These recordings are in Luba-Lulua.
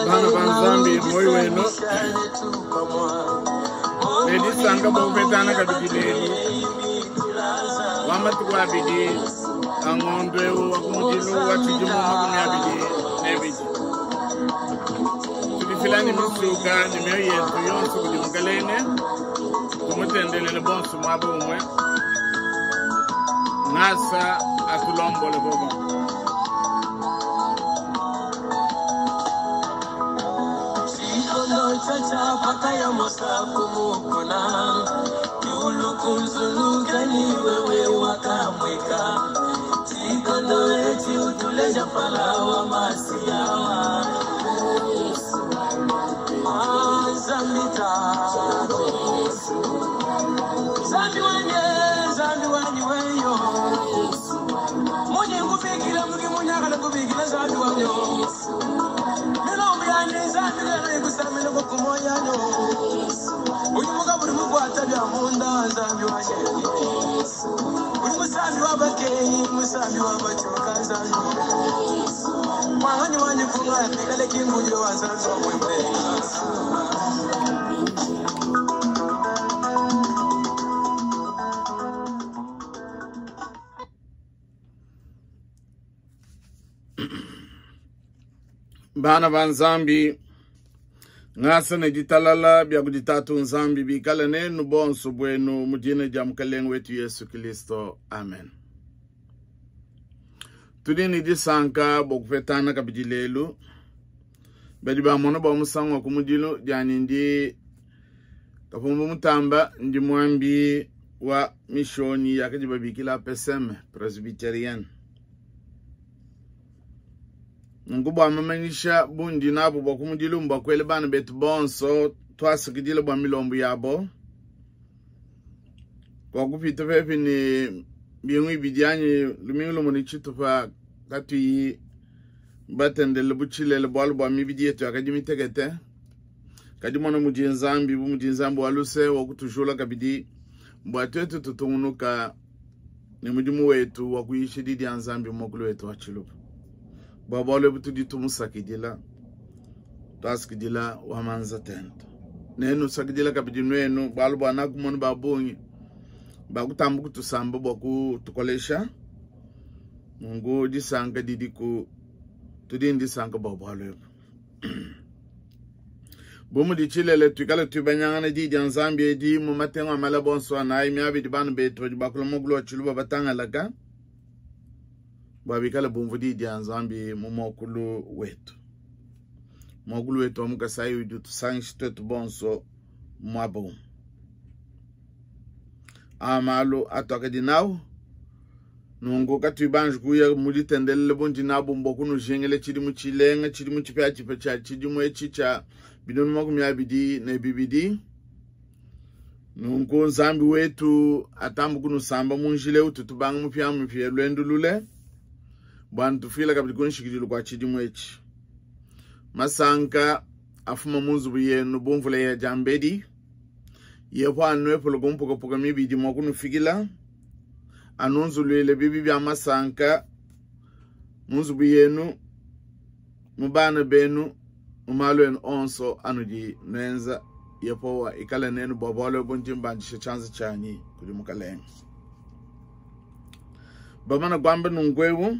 Bana ba Nzambi, muoyo wenu ne disanka bua kupetangana kabidi lelu wa matuku abidi a ngondo eu wa kumudilu wa tshidimu 22. Tudifila ne misuka ne mioyo yetu yonso kudi Mukalenge, tumutendelele bonso muaba umue. Ngasa atulombole bobo. Bana ba Nzambi, ngasa ne ditalala bia kudi Tatu Nzambi bikale nenu bonso buenu mu dina dia Mukalenge wetu Yesu Kristo. Amen. Tudi ne disanka bua kupetana kabidi lelu. Badi bamona bua musangu wa kumudilu dianyi ndi Kapumbu Mutamba, ndi muambi wa mishonyi yakadi babikila PSM Presbyterian. Nunku bua mamanyisha bundi nabu bua kumudilu mbua kuela bana betu bonso tuasakidila bua milombu yabo kwa kupita pepi ne mbingu ibidi anyi lumingu lumue ne tshitupa katuyi batendelele bu tshilele bualu bua mibidi yetu yakadi mitekete. Kadi mona mudi Nzambi, bu mudi Nzambi wa luse wa kutujula kabidi bua tuetu tutungunuka ne mudimu wetu wa kuyisha di dia Nzambi mu muakulu wetu wa Tshiluba. Bua bualu ebu tudi tumusakidila, tuasakidila wa manza tente. Nenusakidila kabidi nuenu, bualu bua nakumona ba bungi bakutamba kutusamba bua kutukolesha. Nunku disanka didiku, tudi ne disanka bua bualu ebu. Bu mudi tshilele, tuikale tuibanyangana di dia Nzambi edi mu matengu a malaba onso anayi miaba idi bana betu badi bakula muakulu wa Tshiluba batangalaka, bua bikale bumvua di dia Nzambi mu muakulu wetu. Muakulu wetu wa mu Kasai udi utusangisha tuetu bonso muaba umue. A malu atuakadi nawu nunku katuyi banji kuya mu ditendelela bundi nabu mbua kunujingila tshidimu tshilenga, tshidimu tshipiatshipia tshia tshidimu etshi tshia 2022. Nunku Nzambi wetu atambe kunusamba mu njila eu tutubanga mupiamupia luendu lule bua ntufuila kabidi ku nshikidilu kua tshidimu etshi. Masanka afuma mu nzubu yenu bu mvula ya diambedi. Yehowa anuepule ku mpukapuka mibidi mua kunufikila, anunzuluile bibi bia masanka mu nzubu yenu, mu bana benu, mu malu enu onso anudi nuenza. Yehowa ikale nenu bua bualu ebu ndi mbandisha tshianza tshianyi kudi Mukalenge. Bamana kuamba nunku eu,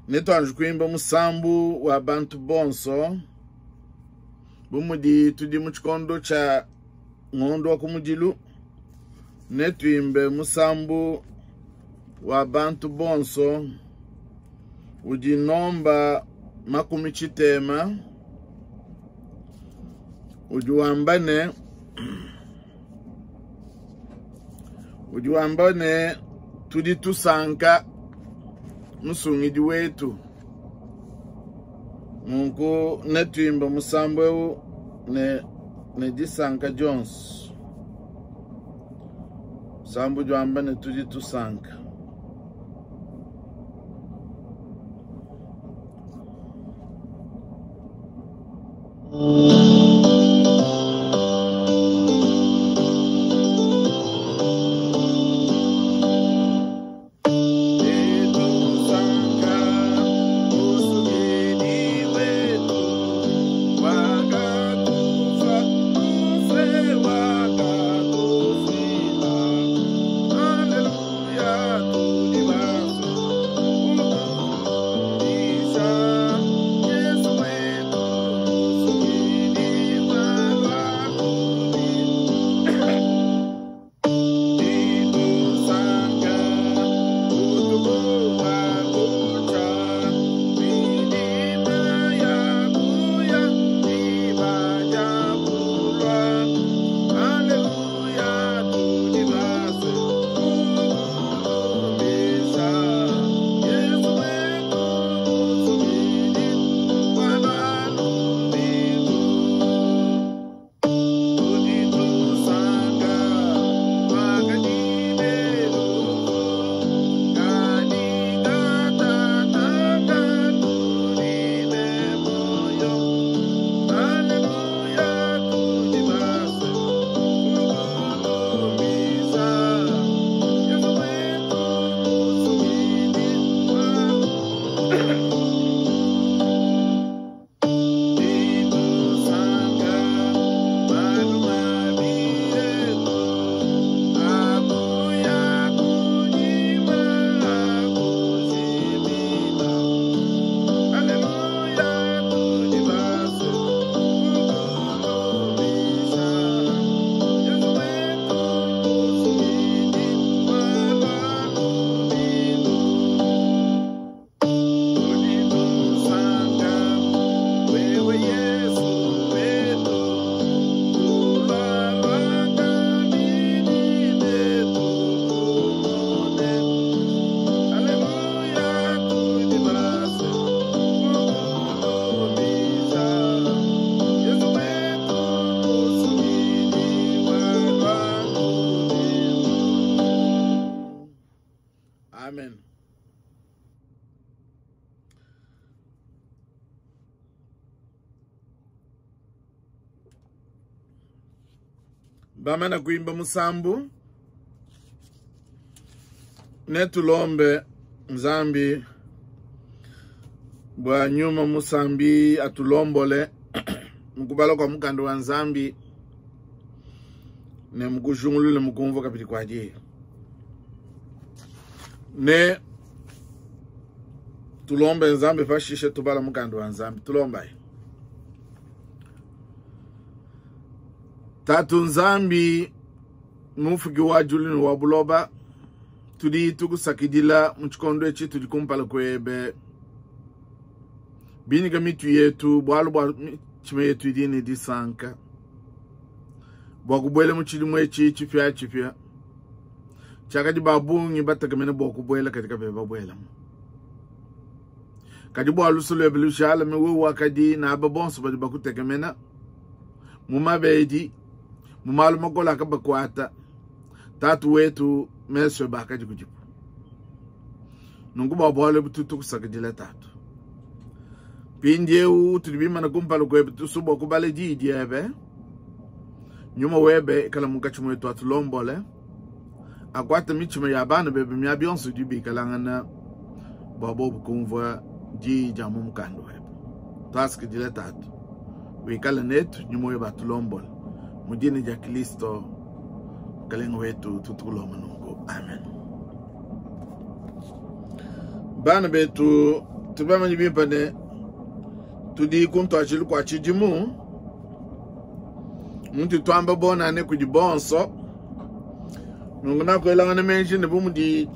netuanji kuimba musambu wa bantu bonso. Bu mudi tudi mu tshikondo tshia ngondo wa kumudilu, netuimbe musambu wa bantu bonso udi nomba 60 udi wamba ne, udi wamba ne, tudi tusanka musungidi wetu. Nunku netuimbe musambu eu ne disanka dionso. Musambu udi wamba ne, tudi tusanka. Bamana kuimba musambu, netulombe Nzambi bua nyuma musambi atulombole mukubala kwa mukanda wa Nzambi ne mukujungulule mukumvua kabidi kwa diyi. Ne tulombe Nzambi pashishe tubala mukanda wa Nzambi. Tulombayi. Tatu Nzambi, mufuki wa julu ne wa buloba, tudi tukusakidila mu tshikondo etshi tudi kumpala kuebe. Binyika mitu yetu, bualu bua mitshima yetu idi ne disanka bua kubuela mu tshidimu etshi tshipiatshipia tshiakadi ba bungi batekemene bua kubuela, kadi kabena babuelamu. Kadi bua luse luebe lujalame, wewe wakadi naba bonso badi bakutekemena mu mabedi, mu malu makole akabakuata. Tatu wetu, mesu ebe akadi kudibu. Nunku bua bualu ebu tudi tukusakidila Tatu. Mpindieu tudi bimana kumpala kuebe, tusua bua kubala diyi diebe. Nyuma webe ikala munkatshi muetu, atulombole, akuate mitshima ya bana bebe miaba yonso idi bikalangana bua bobu kumvua diyi dia mu mukanda webe. Tuasakidila Tatu, wikale netu, nyuma webe atulombole mu dina dia Kristo Mukalenge wetu, tutukulomba nunku, amen. Bana betu, tubamanye bimpe ne tudi ku ntuadijilu kua tshidimu, muntu tuamba bonane kudi bonso. Nunku nakuelangana meji ne bu mudi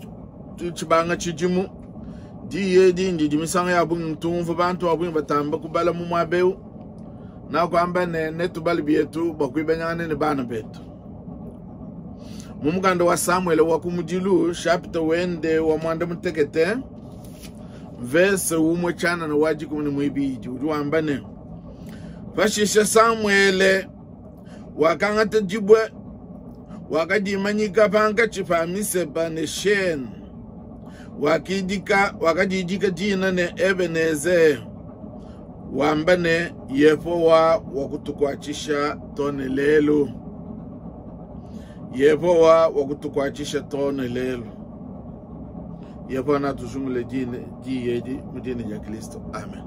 tshibanga tshidimu, diyi edi ndidi misangu ya bungi tumvua bantu ba bungi batamba kubala mu muaba eu. Nakuamba ne netubale bietu bua kuibanyangana ne bana betu. Mu mukanda wa Samuele wa kumudilu, chapitre wende wa mwanda mutekete, verse umue tshianana wa dikumi ne muibidi, udi wamba ne, pashishe Samuele wakangata dibue, wakadimanyika pankatshi pa Misepa ne Shene, wakadidika dina ne Ebenezer, wamba ne, Yehowa wakutukuatshisha to ne lelu. Yehowa wakutukuatshisha to ne lelu. Yehowa natujungule diyi edi mu dina dia Kristo. Amen.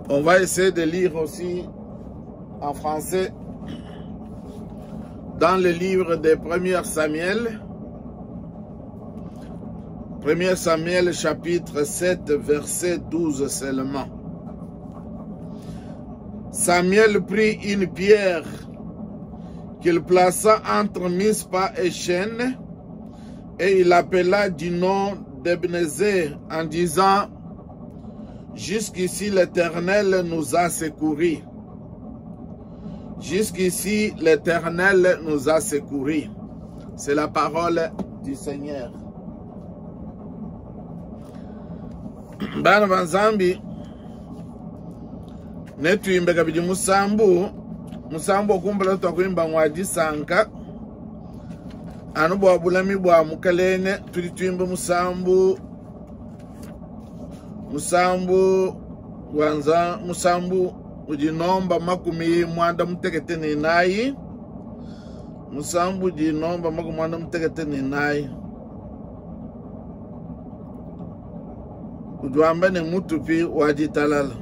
On va essayer de lire aussi en français dans le livre des 1 Samuel. 1 Samuel chapitre 7 verset 12 seulement. Samuel prit une pierre qu'il plaça entre Mispa et Chêne, et il appela du nom d'Ebenezer en disant, jusqu'ici l'Éternel nous a secourus. Jusqu'ici l'Éternel nous a secourus. C'est la parole du Seigneur. Bana ba Nzambi, netuimbe kabidi musambu, musambu okumbala twakuimba ngwa disanka anu bua bulami bua mukalenge. Tudi tuimba musambu, musambu wa nza, musambu udi nomba makumi mwanda mutekete ne nayi, musambu udi nomba makumi mwanda mutekete ne nayi, udi wamba ne mutupi wa ditalala.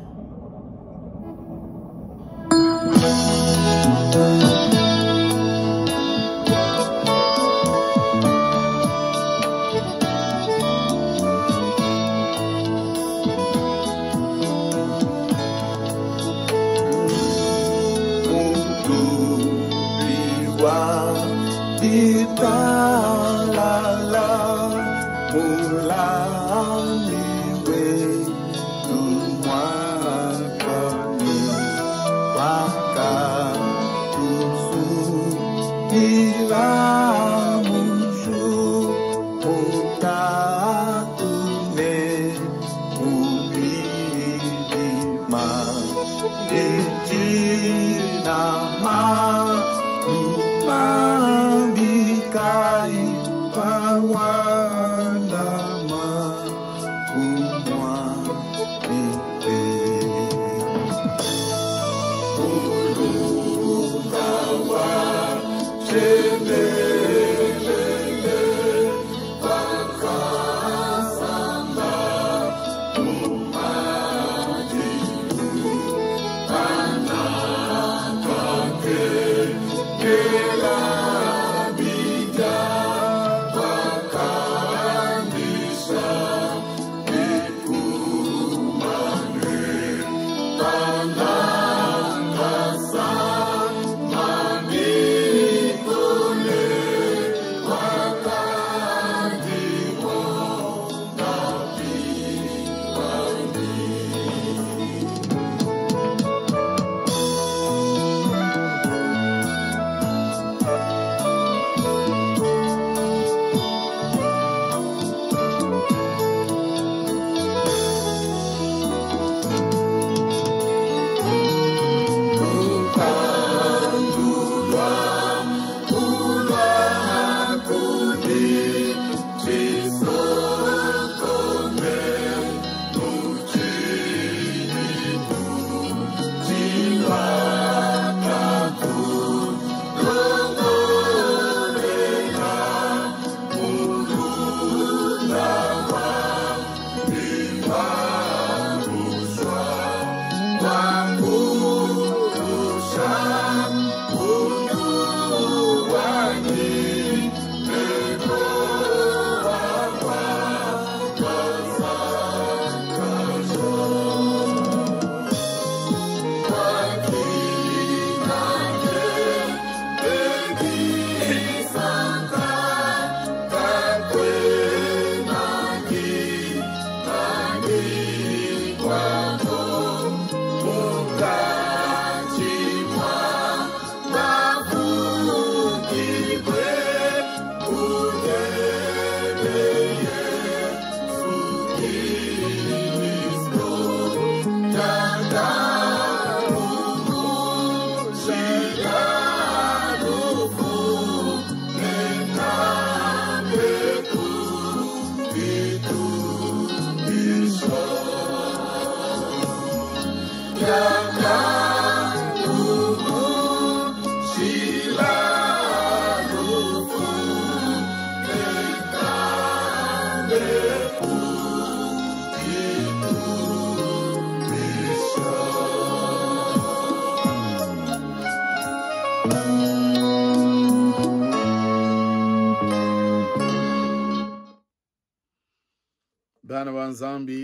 Bana ba Nzambi,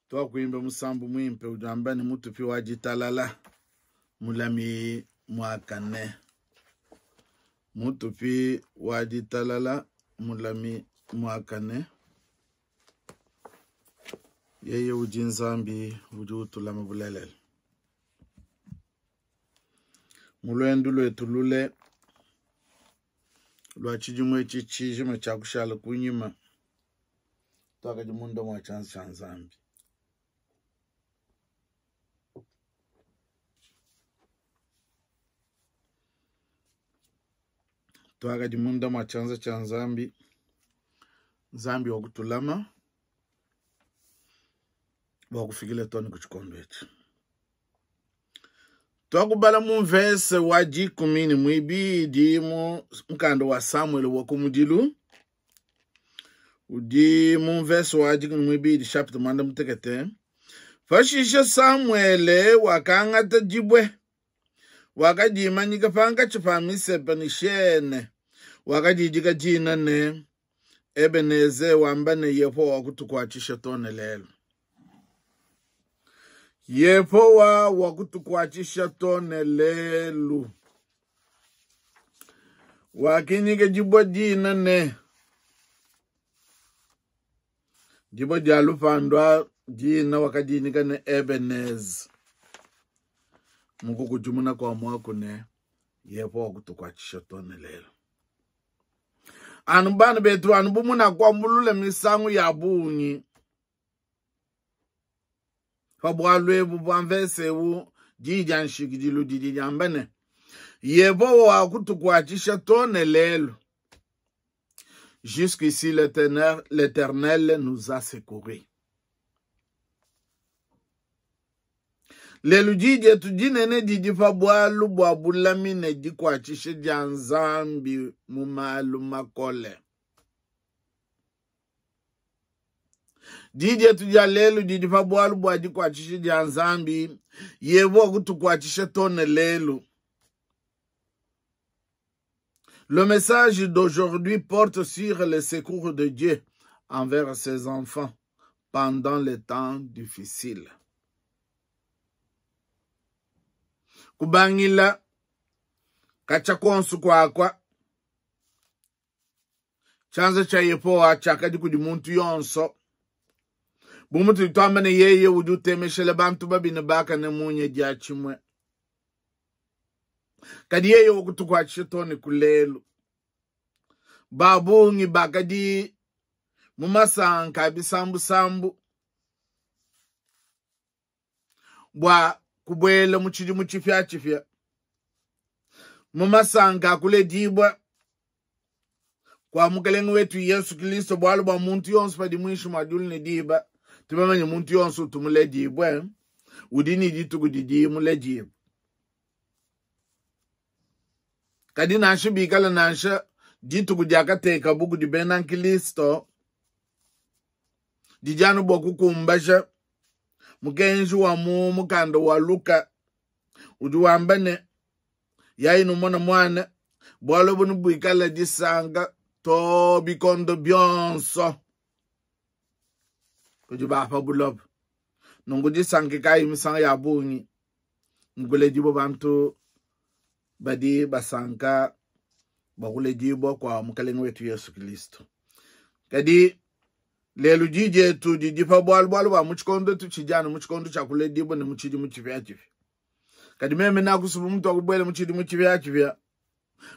twakuimba musambu mwimpe ujamba ni mutupi wa jitalala mulami mwakane. Mutupi wa jitalala mulami mwakane. Yeye uji Nzambi uji utulama bulelele. Mulwendu lwetu lule lwa chijimwe chichijima cha kushala kunyima twakaji munda mwa chanzo cha Nzambi. Twakaji munda mwa chanzo cha Nzambi. Nzambi wa kutulama wa kufikile toni kuchikondo echi. Twakubala mu verse wa jikumi ni mwibidi mu mkando wa Samuel wa kumudilu. Udi mu verse wa jikumi mwibidi chapter mwanda mutekete. Fashisha Samuel wakangata jibwe. Wakajimanyika panga chipa misepa ni shene. Wakajijika jina ne Ebeneze wambane yepo wa kutukwachisha tone lelo. Yepowa wakutukwachisha tone lelu. Wakinyike jibwa jina ne. Jibwa jalupandwa jina wakajinika ne Ebenez. Muku kujumuna kwa mwaku ne. Yepowa wakutukwachisha tone lelu. Anubana betu anubumuna kwa mulule misangu ya bunyi. Fabwalwe bubamvese u jija nshikidilu didi jambene. Yepo wa kutukwachisha tone lelo. Jusqu'ici l'Éternel nous a secourus. Lelu diyi dietu dinene didi pa bualu bua bulami ne dikuatshisha dia Nzambi mu malu makole. Diyi dietu dia lelu didi pa bualu bua dikuatshisha dia Nzambi. Yehowa kutukuatshisha too ne lelu. Le message d'aujourd'hui porte sur le secours de Dieu envers ses enfants pendant les temps difficiles. Kubangila katshia kuonso kuakua, tshianza tshia Yehowa tshiakadi kudi muntu yonso. Bu mutudi tuamba ne yeye udi utemeshela bantu babi ne bakane munya diatshimue. Kadi yeye wakutukuatshisha too ne ku lelu. Ba bungi bakadi mu masanka a bisambusambu bua kubuela mu tshidimu tshipiatshipia, mu masanka a kuledibua kua Mukelenge wetu Yesu Kilisto, bualu bua muntu yonso padi muinshi mua diulu ne diba, tubamanye muntu yonso utu muledibue udi ne dituku didi muledibue. Kadi nansha bikala nansha dituku diakatekabu kudi bena Nkristo didi anu bua kukumbaja mukenji wa mu mukanda wa Luka udi wamba ne, yayi numona muana, bualu ebu nebuikale disanka to bikondo bionso kudi ba pa buloba. Nunku disanka kayi misangu ya bungi nkuledibua bantu badi basanka bua kuledibua kua Mukalenge wetu Yesu Kristo. Kadi lelu di dietu didi pa bualu bualu bua mu tshikondo tutshidi anu mu tshikondo tshia kuledibua ne mu tshidimu tshipiatshipia. Kadi meme nakusuba mutu wakubuela mu tshidimu tshipiatshipia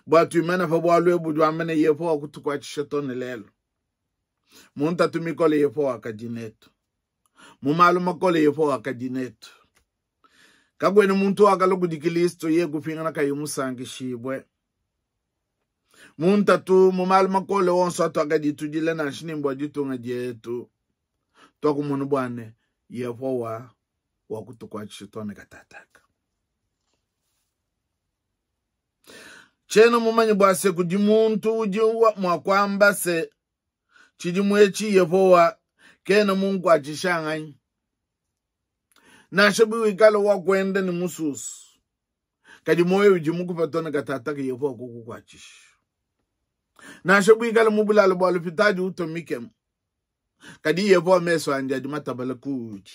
bua tuimane pa bualu ebu budi wamba ne Yehowa kutukuatshisha too ne lelu. Mu ntatu mikole Yehowa wakadi netu, mu malu makole Yehowa wakadi netu. Kakuena muntu wakalua kudi Kristo ye kupingana kayi musankishibue. Mu ntatu, mu malu makole onso atuakadi tudila nansha ne bua ditunga dietu, tuakumona bua ne Yehowa wakutukuatshisha too ne katataka. Tshiena mumanye bua se kudi muntu udi mua kuamba se tshidimu etshi Yehowa kena munkuatshisha nganyi. Nansha biwikala wa kuenda ne mususu, kadi muoyo udi mukupa too ne katataka Yehowa kukukuatshisha. Nansha buikale mu bulalo bua lupitadi utua mikemu, kadi Yehowa mesu andi adi matabale kuudi.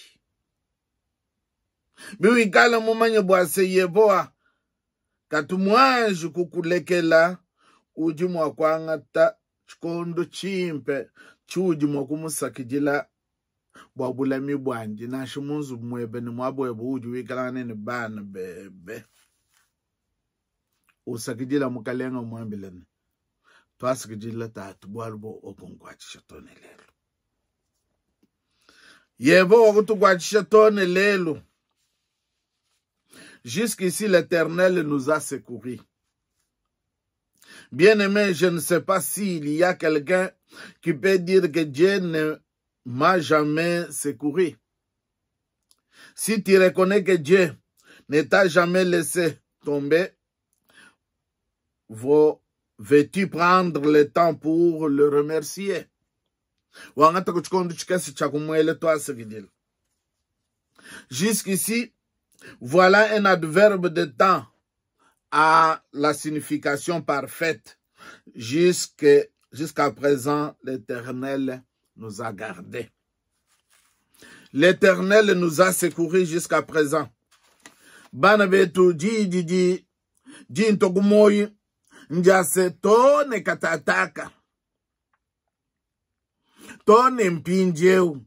Biwikala mumanye bua se Yehowa katu muanji kukulekela, udi mua kuangata tshikondo tshimpe tshiudi mua kumusakidila bua bulami buandi, nansha mu nzubu muebe ne muaba webe uudi wikalangane ne bana bebe. Usakidila Mukalenga, umuambile ne, Tuasakidila Tatu, bualu bua wakunkuatshisha too ne lelu. Yehowa wakutukuatshisha too ne lelu. Jusqu'ici, l'Éternel nous a secourus. Bien-aimé, je ne sais pas s'il y a quelqu'un qui peut dire que Dieu ne m'a jamais secouru. Si tu reconnais que Dieu ne t'a jamais laissé tomber, veux-tu prendre le temps pour le remercier? Wangata ku tshikondo tshikese tshia kumuela tuasakidila. Jusqu'ici, voilà un adverbe de temps à la signification parfaite. Jusqu'à présent, l'Éternel nous a gardés. L'Éternel nous a secourus jusqu'à présent. Bana betu di di di di ntokumoyi ndiase to ne katataka to ne mpindieu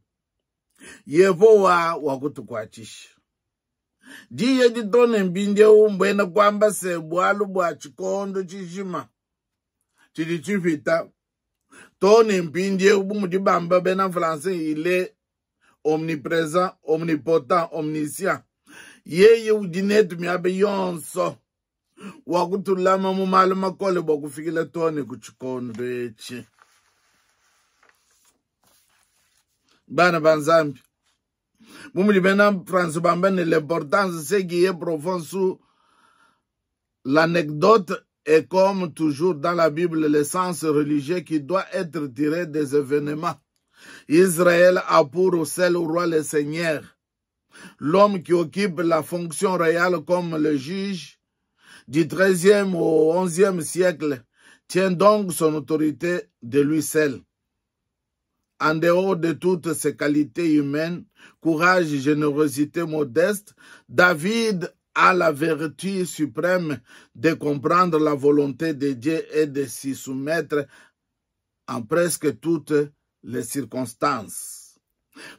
Yehowa wakutukuatshisha. Diyi edi to ne mpindieu mbuena kuamba se bualu bua tshikondo tshijima tshidi tshipita to ne mpindieu, bu mudi bamba bena français, il est omnipresent, omnipotent, omniscient. Yeye udi netu miaba yonso, wakutulama mu malu makole bua kufikila too ne ku tshikondo etshi. Bana ba Nzambi, Bu mudi bena France bamba ne, l'importance ce qui est profond sous l'anecdote est comme toujours dans la Bible le sens religieux qui doit être tiré des événements. Israël a pour seul roi le Seigneur. L'homme qui occupe la fonction royale comme le juge du XIIIe au XIe siècle tient donc son autorité de lui seul. En dehors de toutes ses qualités humaines, courage, générosité, modeste, David a la vertu suprême de comprendre la volonté de Dieu et de s'y soumettre en presque toutes les circonstances.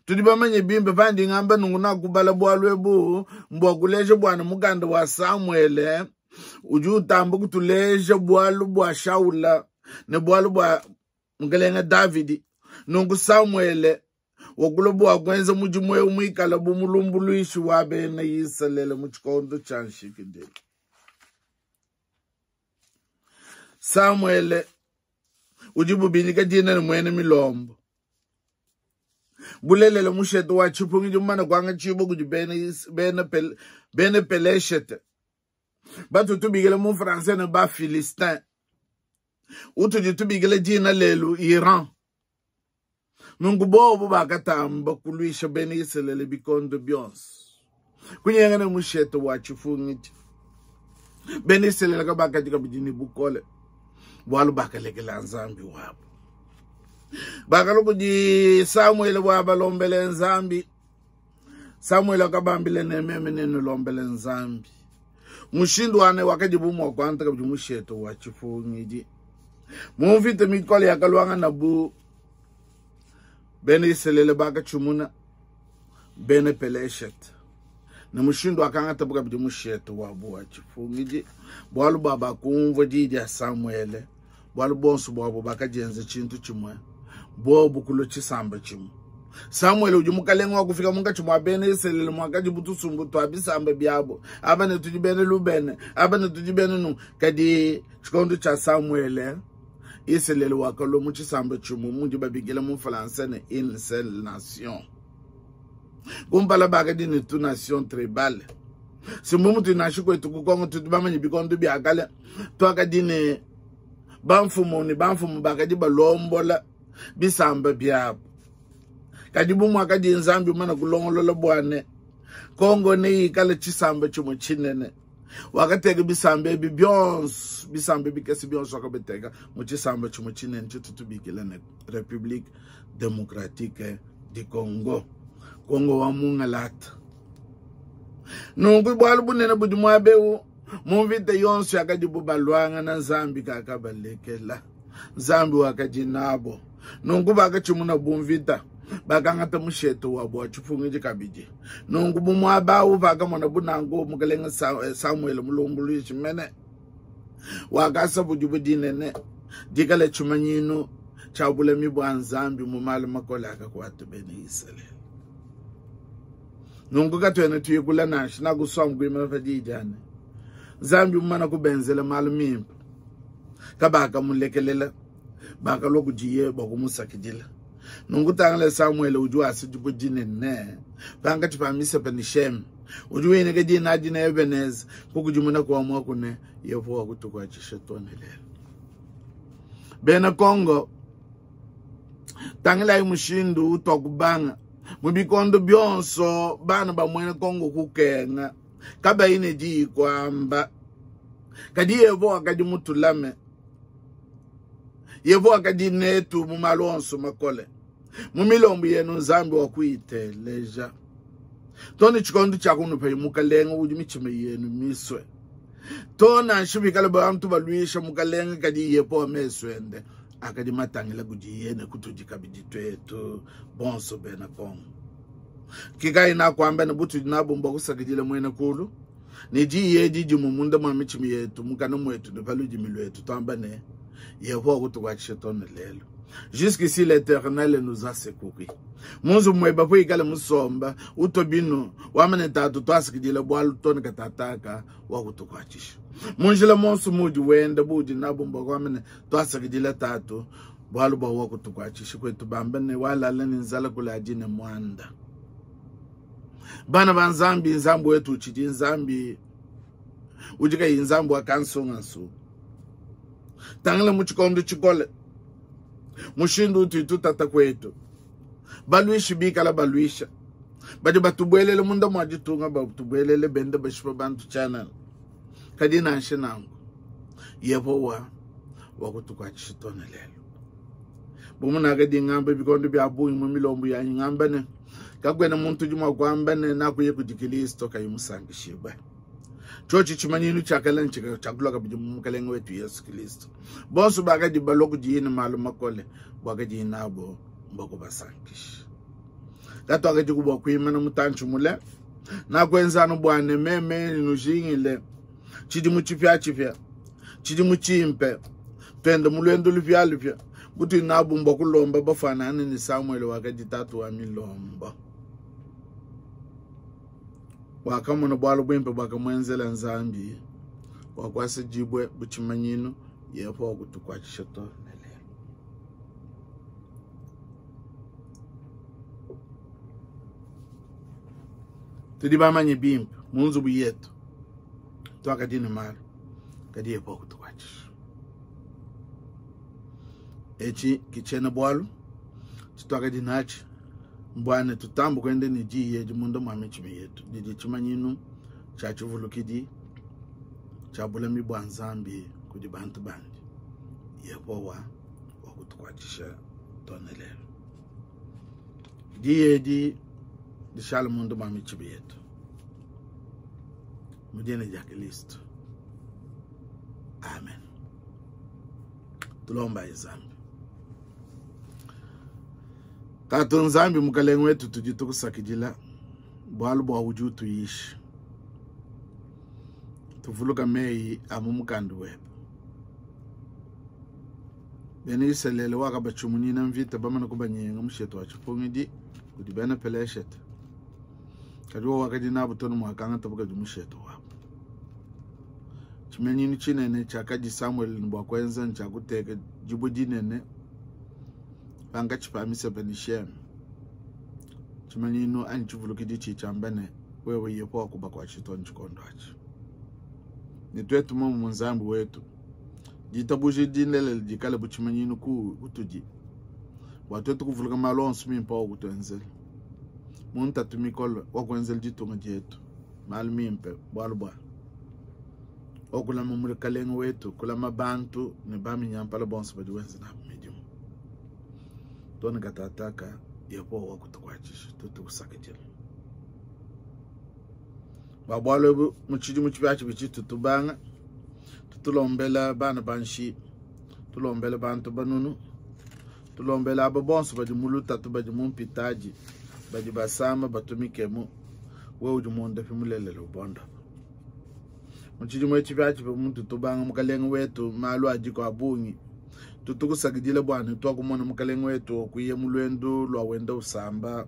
Tudi bamanye bimpe pandi ngamba nunku nakubala bualu ebu mbua kuleja bua ne mukanda wa Samuele udi utamba kutuleja bualu bua Shaula ne bualu bua mukelenge Davidi. Nunku Samuele wakulua bua kuenza mudimu eu muikale bu mulumbuluishi wa bena Isalele mu tshikondo tshia nshikidilu. Samuele udibu binyika dina ne muena milombo. Bulelela, mushete wa tshipungidi mumane kuangatshibua kudi bena, bena, bena Peleshete batu tubikila mu français ne ba Philistin, utudi tubikila dina lelu Iran. Nunku bobu bakatamba kuluisha bena Isalele bikondo bionso, kunyenga ne mushete wa tshipungidi. Bena Isalele kabakadi kabidi ne bukole bualu bakalekela Nzambi wabu. Bakalua kudi Samuele bua balombele Nzambi. Samuele wakabambila ne, meme nenulombele Nzambi. Mushindu wane wakadibu mua kuangata kabidi mushete wa tshipungidi. Mu mvita mikole yakaluangana bu bena Isalele bakatshimuna bena Peleshete ne mushindu wakangatabu kabidi mushete wabu wa tshipungidi, bualu bua bakumvua diyi dia Samuele, bualu buonso buabu bakadienza tshintu tshimue, bobu kulua tshisamba tshimue. Samuele udi mukalenge wa kufika munkatshi mua bena Isalele muakadi bu tusumbu tua bisamba biabo, aba ne tudi bena Lubene, aba ne tudi bena nu. Kadi tshikondo tshia Samuele, Isalele wakalua mu tshisamba tshimue mudi babikila mu français ne une seule nation. Kumpala bakadi ne tu nation tribale. Simbu mutu nansha kwetu ku Kongo tudi bamanye bikondo bia kale tuakadi ne bamfumu ne bamfumu bakadi balombola bisamba biabo. Kadi bu muakadi Nzambi mumane kulongolola bua ne Kongo neikale tshisamba tshimue tshinene, wakateka bisamba ebi bionso, bisamba bikese bionso wakabiteka mu tshisamba tshimue tshinene tshitu tubikila ne République démocratique du Congo, Kongo wa mungalata. Nunku bualu bunene budi muaba eu, mu mvita yonso yakadibu baluangana, Nzambi kakabalekela, Nzambi wakadi nabo. Nunku bakatshimuna bu mvita, bakangata mushete wabo wa tshipungidi kabidi. Nunku bu muaba awu pakamona bu nanku mukelenge Samuele mulumbuluishi mene wakasa budibu dinene dikale tshimanyinu tshia bulami bua Nzambi mu malu makole akakuata bena Isalele. Nunku katuena tuyikula nansha nakusua mukuimana pa diyi dia ne Nzambi mumana kubenzela malu mimpe, kabakamulekelela, bakalua kudiye bua kumusakidila. Nunku tangila Samuele udi wasa dibue dinene pankatshi pa Misepa ne Sheme, udi winyika dina adi ne Ebeneza, kukudimuna kua muaku ne Yehowa kutukuatshisha too ne lelu. Bena Kongo, tangilayi mushindu utuakubanga mu bikondo bionso bana ba muena Kongo kukenga kabayi ne diyi kuamba. Kadi Yehowa wakadi mutulame, Yehowa wakadi netu mu malu onso makole. Mu milombu yenu Nzambi wa kuyiteleja. To ne tshikondo tshia kunupa mukalenge udi mitshima yenu misue. To nansha bikale bantu baluisha mukalenge, kadi Yehowa mesu ende akadi matangila kudiye ne kutudi kabidi tuetu bonso bena Kongo. Kikayi nakuamba ne butudi nabu mbua kusakidila muena kulu ne diyi edi dimue munda mua mitshima yetu, mukana muetu ne pa ludimi luetu, tuamba ne Yehowa kutukuatshisha too ne lelu. Jusqu'ici l'Éternel nous a secouru. Mu nzubu muebe puikale musomba utue binu wamane tatu tuasakidila bualu too ne katataka wa kutukuatshisha. Mu njila monso muudi wenda buudi nabu mbua kuamba ne tuasakidila tatu bualu bua wa kutukuatshisha kwetu bamba ne walala ne nzala kuladi ne muanda. Bana ba Nzambi, Nzambi wetu utshidi Nzambi udi kayi Nzambi wa kansungansunga. Tangila mu tshikondo tshikole mushindu utudi tutata kuetu, baluishi bikala baluisha, badi batubuelele munda mua ditunga, batubuelele benda bashipa bantu tshianana. Kadi nansha nanku, Yehowa wakutukuatshisha too ne lelu. Bu munakadi ngamba bikondo bia bungi mu milombu yanyi, ngamba ne, kakuena muntu udi mua kuamba ne, nakuya kudi Kilisto kayi musankishibue. Tshiotshi tshimanyinu tshia kale ntshiakulua kabidi mu Mukelenge wetu Yesu Kilisto. Bonso bakadi balua kudiye ne malu makole, buakadiye nabo mbua kubasankisha. Katuakadiku bua kuimana mutantshi mule, nakuenza anu bua ne meme nujingile tshidimu tshipiatshipia, tshidimu tshimpe, tuende mu luendu lupialupia butudi nabu mbua kulomba bafuanangane ne Samuele wakadi tatu wa milombo. Wakamona bualu buimpe buakamuenzela Nzambi, wakuasa dibue bu tshimanyinu, Yehowa kutukuatshisha to ne lelu. Tudi bamanye bimpe mu nzubu yetu tuakadi ne malu, kadi Yehowa kutukuatshisha. Etshi ki tshiena bualu tshituakadi natshi mbua ne tutambe kuenda ne diyi edi munda mua mitshima yetu, didi tshimanyinu tshia tshivulukidi tshia bulami bua Nzambi kudi bantu bandi. Yehowa wakutukuatshisha too ne lelu. Diyi edi dishale munda mua mitshima yetu mu dina dia Kristo. Amen. Tulombayi Nzambi. Tatu Nzambi Mukalenge wetu, tudi tukusakidila bualu bua udi utuyisha. Tuvuluka meyi a mu mukanda webe. Bena Isalele wakabatshimunyina mvita bamana kubanyenga mushete wa tshipungidi kudi bena Peleshete. Kadi wowo wakadi nabu too ne muakangatabu kadi mushete wabu. Tshimanyinu tshinene tshiakadi Samuele ne bua kuenza ntshia kuteka dibue dinene pankatshi pa Misepa ne Sheme. Tshimanyinu anyi tshivulukidi tshidi tshiamba ne, wewe Yehowa kubakuatshi too ne tshikondo atshi. Ne tuetu muomu Nzambi wetu, ditabuja dilelela dikale bu tshimanyinu kutudi bua tuetu kuvuluka malu onso mimpe awakutuenzela mu ntatu mikole, wakuenzela ditunga dietu malu mimpe, bualu bua wakulama mukalenge wetu, kulama bantu ne baminyampala bonso badi wenza nabu midimu. Tone katataka Yehowa wakutukuatshisha, tutukusakidila bua bualu ebu. Mu tshidimu tshipiatshipia tshitu tubanga, tutulombela bana banshi, tulombela bantu banunu, tulombela aba bonso badi mu lutatu, badi mu mpitadi, badi basama, batumikemu. Wewe udi muondapi mulelela, ubondopa. Mu tshidimu etshi tshipiatshipia mutu tubanga mukalenge wetu, malu adiku a bungi. Tutukusakidila bua ne tuakumona mukalenge wetu okuya mu luendu lua wenda usamba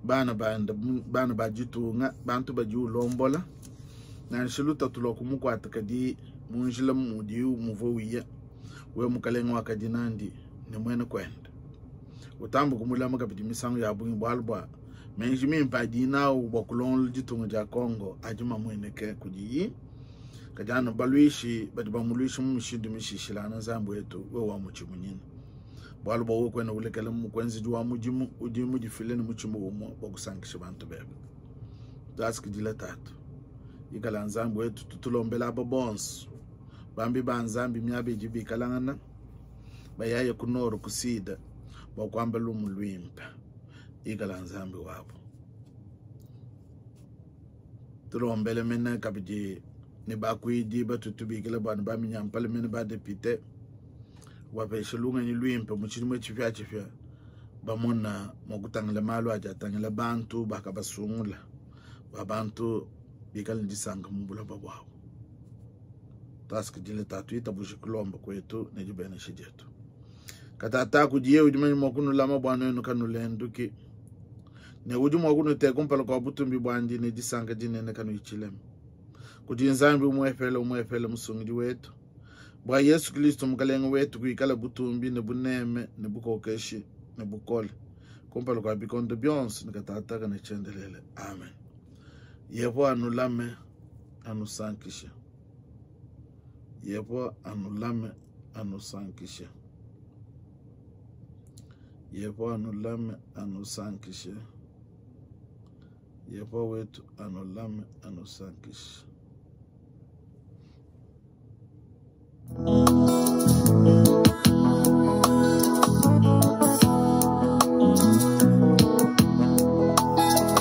bana banda, bana ba ditunga, bantu badi ulombola, nansha lutatu lua kumukuata, kadi mu njila mudi muvua uya, we mukalenge wakadi nandi ne muena kuende. Utamba kumulama kabidi misangu ya bungi, bualu bua meji mimpe adi nawu bua kulongolola ditunga dia Congo adi mamueneke kudiyi, kadi anu baluishi badi bamuluisha mu mishindu mishishilangane. Nzambi wetu, wewe wa mutshimunyina, bualu bua wewe kuena ulekela mukuenzedi wa mudimu udi mudifile ne mutshima umue bua kusankisha bantu bebe. Tuasakidila Tatu, ikala Nzambi wetu, tutulombela aba bonso bambi ba Nzambi miaba idi bikalangana bayaye ku nord ku sud bua kuamba lumu luimpe. Ikala Nzambi wabu. Tulombele mene kabidi ne bakuidi batutubikila bua ne baminyampala mene badepite, wapesha lungenyi luimpe mu tshidimu tshipiatshipia, bamona mua kutangila malu adi atangila bantu bakabasungula, bua bantu bikale ne disanka mu buloba buabu. Tuasakidile Tatu, itabuje kulomba kuetu ne dibenesha dietu. Katata kudiye udi manye mua kunulama bua nuenu kanulenduki, ne udi mua kunuteka kumpala kua butumbi buandi ne disanka dinene kanuyi tshilema. Kudi Nzambi umuepele umuepele Musungidi wetu, bua Yesu Kristo Mukalenge wetu, kuikala butumbi ne buneme ne bukokeshi ne bukole. Kumpala kua bikondo bionso ne katataka ne tshiendelele. Amen. Yehowa anulame, anusankishe. Yehowa anulame, anusankishe. Yehowa anulame, anusankishe. Yehowa wetu anulame, anusankishe.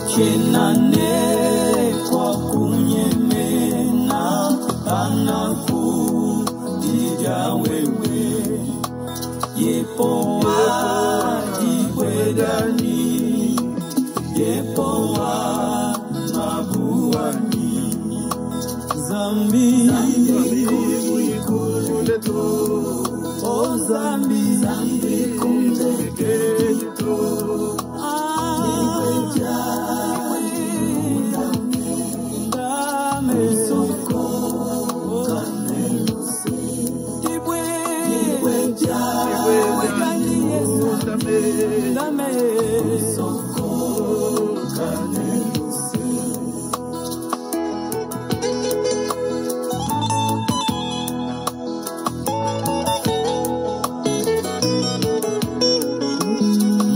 Tshiena kwa kunyemena kana kudidia wewe Yehowa dibwedani Yehowa mabuani Zambi Oh Zambi Zambi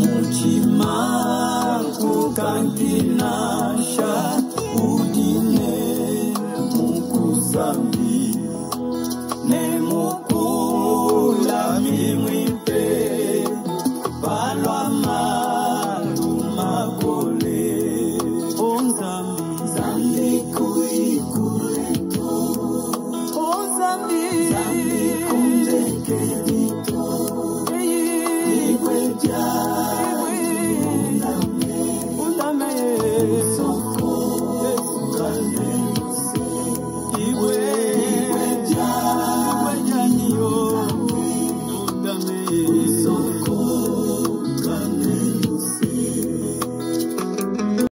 Mutima kukantinasha udine mukusambi ne mukula mimwipe palwa malumakole onzambi zambi kuikuleto onzambi zambi kundekedito ibweja.